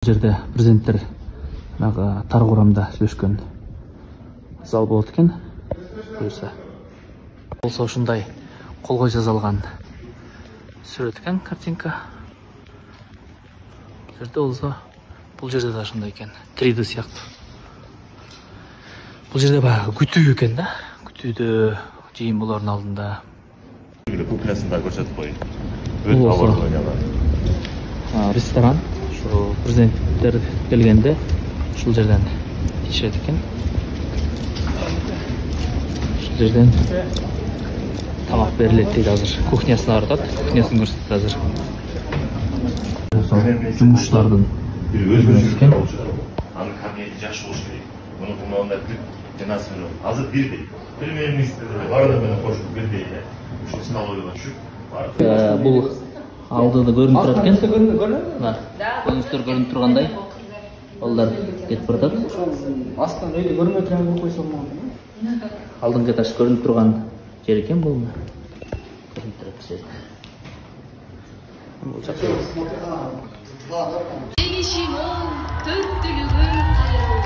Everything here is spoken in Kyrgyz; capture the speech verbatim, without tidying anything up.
жерде президенттер тар курамда сүйлөшкөн зал болот экен. Буюрса болсо ушундай колго жазалган сүрөт экен, картинка. Жерде болсо бул жерде да ошондой экен, три дэ сыяктуу. Бул жерде баягы күтүү экен да, күтүүдө жыйын болордун алдында. Кухнясында көрсөтүп коюн. Өтө абал ойнаган. Ресторан. Ошо президенттер келгенде ушул жерден ичишет экен. Ушул жерден тамак берилет дейт азыр. Кухнясына баратат, кухнясын көрсөтөт азыр. Жумушчулардын өзүнүн экен. Анын кабинети жакшы болуш керек. Муну кумаганда жанасы менен азыр бирдей. Премьер-министр баардыгы менен кошуп бирдей эле. Ушул столовыйга түшүп. Бул алдыда көрүнүп турат экен. Көзүңүздөр көрүнүп тургандай. Балдар кетип баратат. Астынан өйдө көрүнбөй турган кылып койсо болмок. Алдыңкы этаж көрүнүп турган жер экен бул. Көрүнүп турат жер. Бул жакшы. Жеңишиңин төттүлүгүн кайруу.